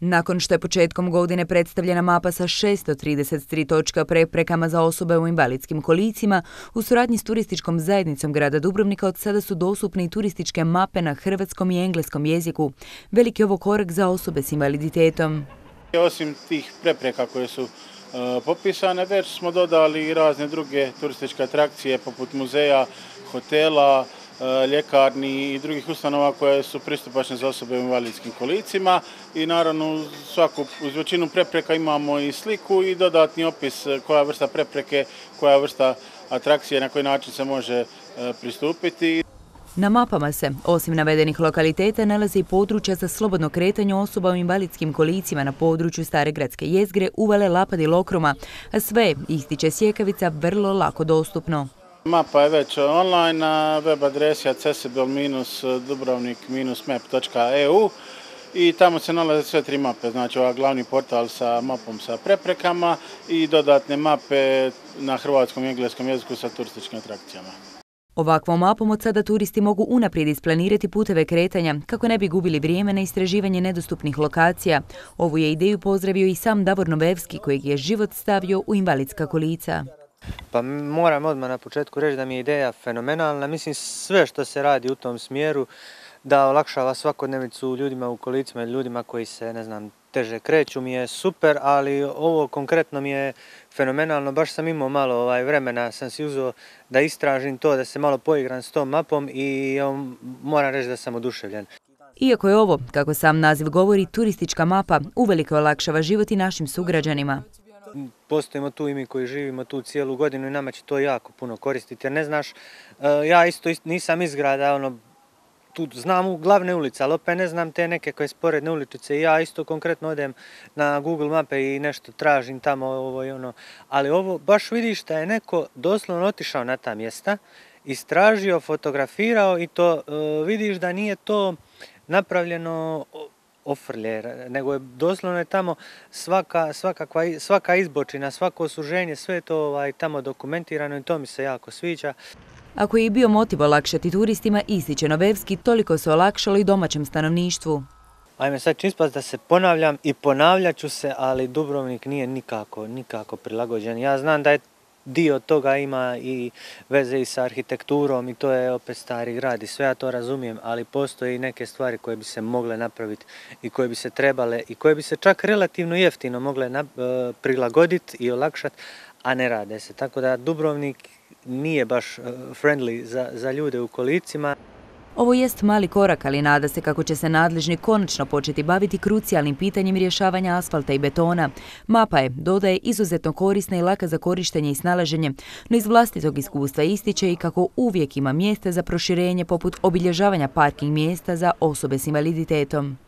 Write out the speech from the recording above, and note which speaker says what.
Speaker 1: Nakon što je početkom godine predstavljena mapa sa 633 točka preprekama za osobe u invalidskim kolicima, u suradnji s turističkom zajednicom grada Dubrovnika od sada su dostupne i turističke mape na hrvatskom i engleskom jeziku. Veliki je ovo korak za osobe s invaliditetom.
Speaker 2: Osim tih prepreka koje su popisane, već smo dodali i razne druge turističke atrakcije poput muzeja, hotela, ljekarni i drugih ustanova koje su pristupačne za osobe u invalidskim kolicima i naravno uz većinu prepreka imamo i sliku i dodatni opis koja vrsta prepreke, koja vrsta atrakcije, na koji način se može pristupiti.
Speaker 1: Na mapama se, osim navedenih lokaliteta, nalaze i područja za slobodno kretanje osoba u invalidskim kolicima na području Stare gradske jezgre, Uvale, Lapad i Lokruma, a sve, ističe Sjekavica, vrlo lako dostupno.
Speaker 2: Mapa je već online na web adresi accessible-dubrovnik-map.eu i tamo se nalaze sve tri mape, znači ovaj glavni portal sa mapom sa preprekama i dodatne mape na hrvatskom i engleskom jeziku sa turističkim atrakcijama.
Speaker 1: Ovakvom mapom od sada turisti mogu unaprijed isplanirati puteve kretanja kako ne bi gubili vrijeme na istraživanje nedostupnih lokacija. Ovu je ideju pozdravio i sam Davor Novevski, kojeg je život stavio u invalidska kolica.
Speaker 3: Pa moram odmah na početku reći da mi je ideja fenomenalna. Mislim, sve što se radi u tom smjeru da olakšava svakodnevicu ljudima u kolicima i ljudima koji se, teže kreću mi je super, ali ovo konkretno mi je fenomenalno. Baš sam imao malo vremena, sam si uzeo da istražim to, da se malo poigram s tom mapom i moram reći da sam oduševljen.
Speaker 1: Iako je ovo, kako sam naziv govori, turistička mapa, uvelike olakšava život i našim sugrađanima.
Speaker 3: Postojimo tu i mi koji živimo tu cijelu godinu i nama će to jako puno koristiti, jer ne znaš, ja isto nisam iz grada, tu znam u glavne ulice, ali opet ne znam te neke koje sporedne uličice i ja isto konkretno odem na Google mape i nešto tražim tamo ali ovo baš vidiš da je neko doslovno otišao na ta mjesta, istražio, fotografirao i to vidiš da nije to napravljeno ofrlje, nego je doslovno tamo svaka izbočina, svako suženje, sve je to tamo dokumentirano i to mi se jako sviđa.
Speaker 1: Ako je i bio motiv olakšati turistima, ističe Novevski, toliko se olakšalo i domaćem stanovništvu.
Speaker 3: Ajme, sad ću ispast da se ponavljam i ponavljat ću se, ali Dubrovnik nije nikako prilagođen. Ja znam da je dio toga ima i veze i sa arhitekturom i to je opet stari grad i sve ja to razumijem, ali postoje i neke stvari koje bi se mogle napraviti i koje bi se trebale i koje bi se čak relativno jeftino mogle prilagoditi i olakšati, a ne rade se. Tako da Dubrovnik nije baš friendly za ljude u kolicima.
Speaker 1: Ovo jest mali korak, ali nada se kako će se nadležni konačno početi baviti krucijalnim pitanjem rješavanja asfalta i betona. Mapa je, dodaje, izuzetno korisna i laka za korištenje i snalaženje, no iz vlastitog iskustva ističe i kako uvijek ima mjesta za proširenje poput obilježavanja parking mjesta za osobe s invaliditetom.